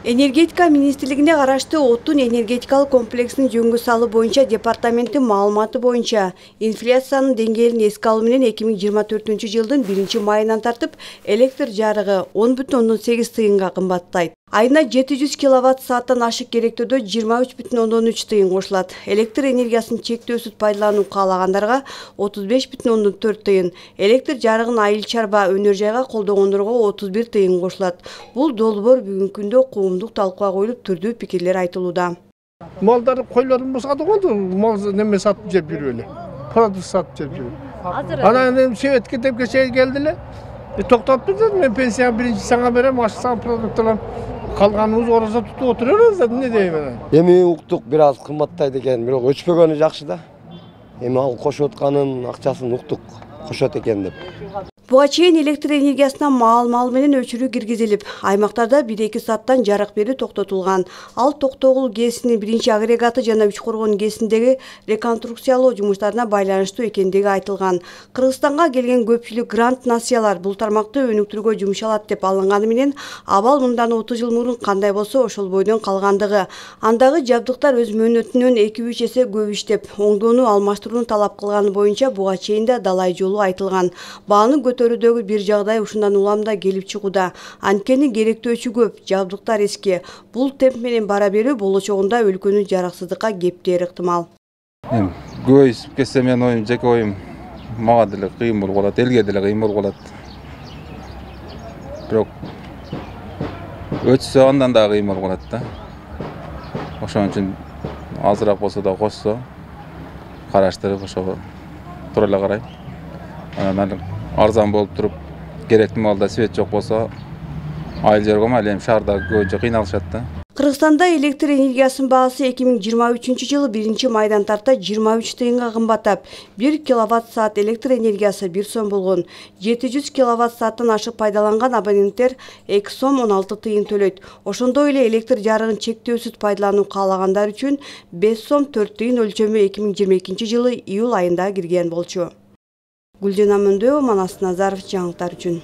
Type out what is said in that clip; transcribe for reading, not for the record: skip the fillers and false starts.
Энергетика министрлигине караштуу Отун энергетикалык комплексин жөнгө салуу боюнча департаменттин маалыматы боюнча инфляциянын деңгээлин эске алуу менен 2024-жылдын 1-майынан тартып электр жарыгы 10,8 тыйынга кымбаттайт. Айына 700 киловатт-сааттан ашык керектөөдө 23,3 тыйын кошулат. Электр энергиясын чектөөсүз пайдалануу каалагандарга 35,4 тыйын, электр жарыгын айыл чарба өнөр жайга колдогондорго 31 тыйын кошулат. Бул долбоор бүгүнкү күндө коомдук талкууга коюлуп түрдүү пикирлер айтылууда. Малдар койлорун босатып коюду, мал неме сатып жеп жүрүп эле. Продукт сатып жеп жүрүп. Анан Советке деп кечээ келди эле. Токтоптур, мен пенсия биринчи саңа берем, ашсаң продукттардан калганыбыз ораза тутуп отурабыз, эмне дейм. Эми уктук бир аз кымбаттайт экен, бирок өчпөгөнү жакшы да. Эми ал кошуп атканын акчасын уктук кошот экен деп. Буга чейин электр энергиясына маал менен өчүрүү киргизилип, аймактарда 1-2 сааттан жарык берүү токтотулган. Ал Токтогул ГЭСинин 1-агрегаты жана Үчкоргон ГЭСиндеги реконструкциялоо жумуштарына байланыштуу экендиги айтылган. Кыргызстанга келген көпчүлүк грант насыялар бул тармакты өнүктүрүүгө жумшалат деп алынганы менен абал мындан 30 жыл мурун кандай болсо ошол бойдон калгандыгы. Андагы жабдыктар өз мөөнөтүнөн 2-3 эсе көп иштеп, оңдоону алмаштырууну талап кылганы боюнча буга чейин да далай жолу айтылган. Бааны көтөрүүдөгү бир жагдай ушундан улам да келип чыгууда. Анткени керектөөчү көп, жабдыктар эски. Бул темп менен бара берүү болочогунда өлкөнү жараксыздыкка кептери ыктымал. Көйүп кетсе мен оюм, жеке оюм, мага деле кыйын болуп калат, элге деле кыйын болуп калат. Бирок өтсө андан да кыйын болуп калат да. Ошон үчүн азыраак болсо да кошсо, караштырып ошого туура эле карайм. Анан арзан болуп туруп, керектүү маалда свет жок болсо, айыл жерге ма элем шаарда көбүнчө кыйналышат да. Кыргызстанда электр энергиясынын баасы 2023-жылы 1-майдан тарта 23 тыйынга кымбаттап, 1 киловатт-саат электр энергиясы 1 сом болгон. 700 киловатт-сааттан ашык пайдаланган абоненттер 2 сом 16 тыйын төлөйт. Ошондой эле электр жарыгын чектөөсүз пайдалануу каалагандар үчүн 5 сом 4 тыйын өлчөмү 2022-жылы июль айында кирген болчу. Гүлжан Амандоева, Манас Назаров, жаңылыктар үчүн.